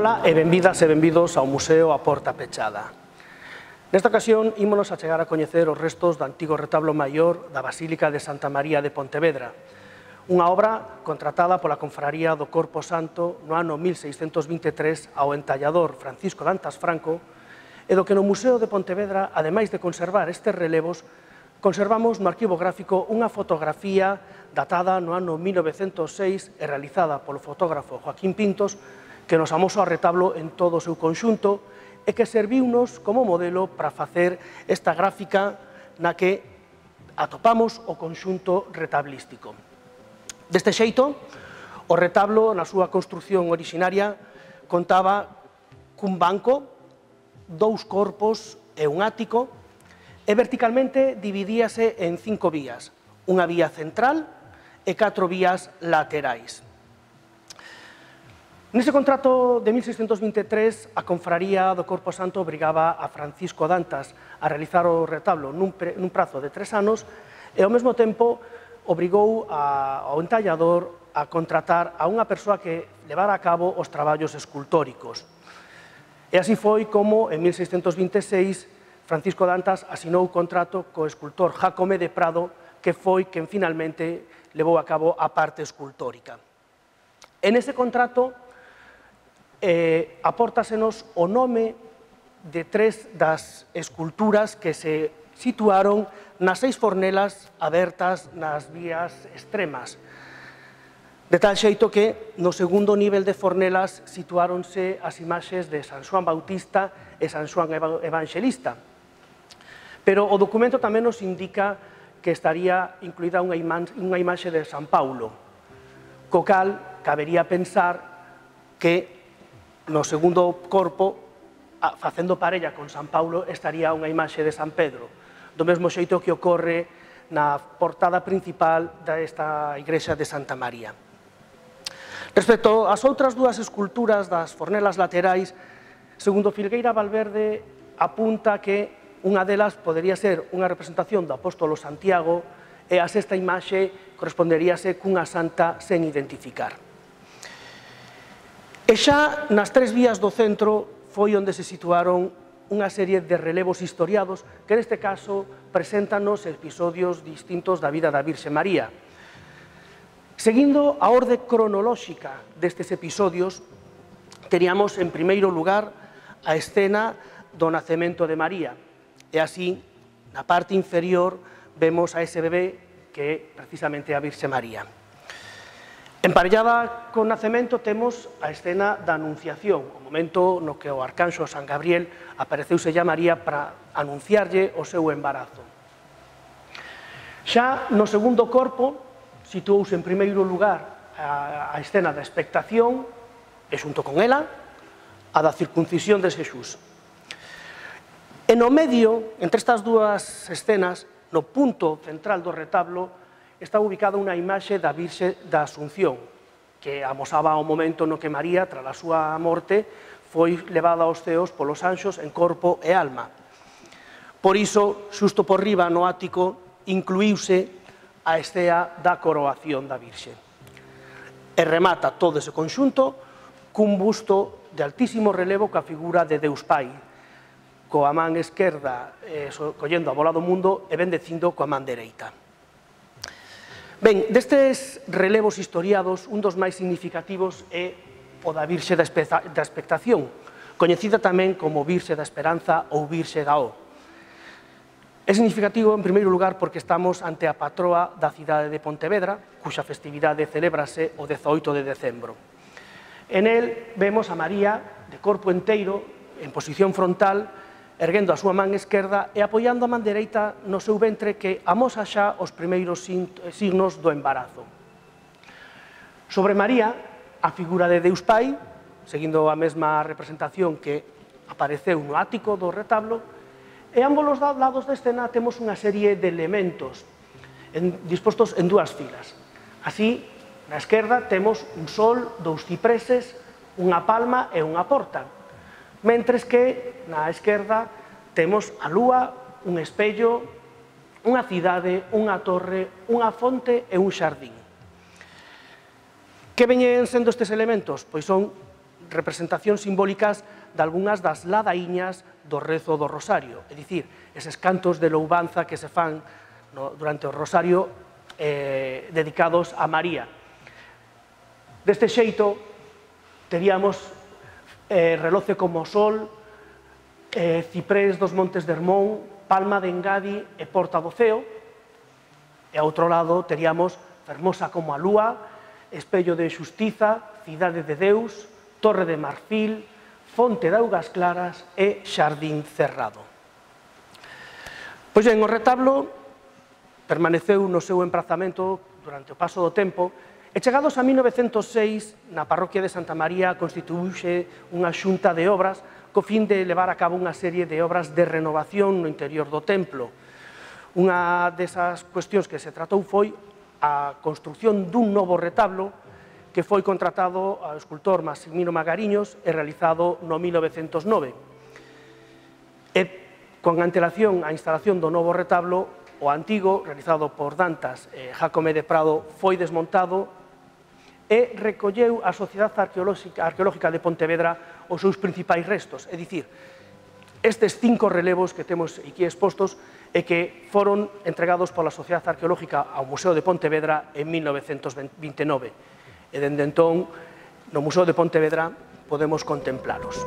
Ola e benvidas e benvidos ao Museo A Porta Pechada. Nesta ocasión, ímonos a chegar a coñecer os restos do antigo retablo maior da Basílica de Santa María de Pontevedra, unha obra contratada pola Confraría do Corpo Santo no ano 1623 ao entallador Francisco Dantas Franco, e do que no Museo de Pontevedra, ademais de conservar estes relevos, conservamos no arquivo gráfico unha fotografía datada no ano 1906 e realizada polo fotógrafo Joaquín Pintos, que nos amosou ao retablo en todo o seu conxunto e que serviunos como modelo para facer esta gráfica na que atopamos o conxunto retablístico. Deste xeito, o retablo, na súa construción orixinaria, contaba cun banco, dous corpos e un ático, e verticalmente dividíase en 5 vías, unha vía central e 4 vías laterais. Nese contrato de 1623, a Confraría do Corpo Santo obrigaba a Francisco Dantas a realizar o retablo nun prazo de 3 anos e, ao mesmo tempo, obrigou ao entallador a contratar a unha persoa que levara a cabo os traballos escultóricos. E así foi como, en 1626, Francisco Dantas asinou o contrato co escultor Jácome de Prado, que foi quen finalmente levou a cabo a parte escultórica. En ese contrato apórtasenos o nome de 3 das esculturas que se situaron nas 6 fornelas abertas nas vías extremas, de tal xeito que no segundo nivel de fornelas situáronse as imaxes de San Xoán Bautista e San Xoán Evanxelista. Pero o documento tamén nos indica que estaría incluída unha imaxe de San Paulo, co cal cabería pensar que no segundo corpo, facendo parella con San Paulo, estaría unha imaxe de San Pedro, do mesmo xeito que ocorre na portada principal desta igrexa de Santa María. Respecto ás outras dúas esculturas das fornelas laterais, segundo Filgueira Valverde, apunta que unha delas podería ser unha representación do apóstolo Santiago e a sexta imaxe corresponderíase cunha santa sen identificar. E xa nas 3 vías do centro foi onde se situaron unha serie de relevos historiados que neste caso preséntanos episodios distintos da vida da Virxe María. Seguindo a orde cronolóxica destes episodios, teríamos en primeiro lugar a escena do nacemento de María, e así, na parte inferior, vemos a ese bebé que é precisamente a Virxe María. Emparellada con nacemento temos a escena da Anunciación, o momento no que o arcanxo San Gabriel apareceuse a María para anunciarlle o seu embarazo. Xa no segundo corpo situouse en primeiro lugar a escena da expectación e xunto con ela a da circuncisión de Xesús. E no medio, entre estas dúas escenas, no punto central do retablo, está ubicada unha imaxe da Virxe da Asunción, que amosaba o momento no que María, tras a súa morte, foi levada aos ceos polos anxos en corpo e alma. Por iso, xusto por riba no ático, incluíuse a escena da coroación da Virxe. E remata todo ese conxunto cun busto de altísimo relevo coa figura de Deus Pai, coa man esquerda collendo a bola do mundo e bendecindo coa man dereita. Ben, destes relevos historiados, un dos máis significativos é o da Virxe da Expectación, coñecida tamén como Virxe da Esperanza ou Virxe da O. É significativo, en primeiro lugar, porque estamos ante a patroa da cidade de Pontevedra, cuxa festividade celébrase o 18 de decembro. En el vemos a María, de corpo enteiro, en posición frontal, erguendo a súa man esquerda e apoiando a man dereita no seu ventre que amosa xa os primeiros signos do embarazo. Sobre María, a figura de Deus Pai, seguindo a mesma representación que apareceu no ático do retablo, e ambos os lados da escena temos unha serie de elementos dispostos en 2 filas. Así, na esquerda temos un sol, 2 cipreses, unha palma e unha porta, mentres que na esquerda temos a lúa, un espello, unha cidade, unha torre, unha fonte e un xardín. Que veñen sendo estes elementos? Pois son representacións simbólicas de algunhas das ladaíñas do rezo do Rosario, é dicir, eses cantos de louvanza que se fan durante o Rosario dedicados a María. Deste xeito, teríamos Reloce como o Sol, Ciprés dos Montes de Hermón, Palma de Engadi e Porta do Ceo, e ao outro lado teríamos Fermosa como a Lúa, Espello de Xustiza, Cidade de Deus, Torre de Marfil, Fonte de Augas Claras e Xardín Cerrado. Pois ben, o retablo permaneceu no seu emprazamento durante o paso do tempo e chegados a 1906, na parroquia de Santa María constituíuse unha xunta de obras co fin de levar a cabo unha serie de obras de renovación no interior do templo. Unha desas cuestións que se tratou foi a construción dun novo retablo que foi contratado ao escultor Maximino Magariños e realizado no 1909. E con antelación á instalación do novo retablo, o antigo, realizado por Dantas e Jácome de Prado, foi desmontado e recolleu a Sociedade Arqueológica de Pontevedra os seus principais restos, é dicir, estes 5 relevos que temos aquí expostos e que foron entregados pola Sociedade Arqueológica ao Museo de Pontevedra en 1929. E dende entón, no Museo de Pontevedra podemos contemplalos.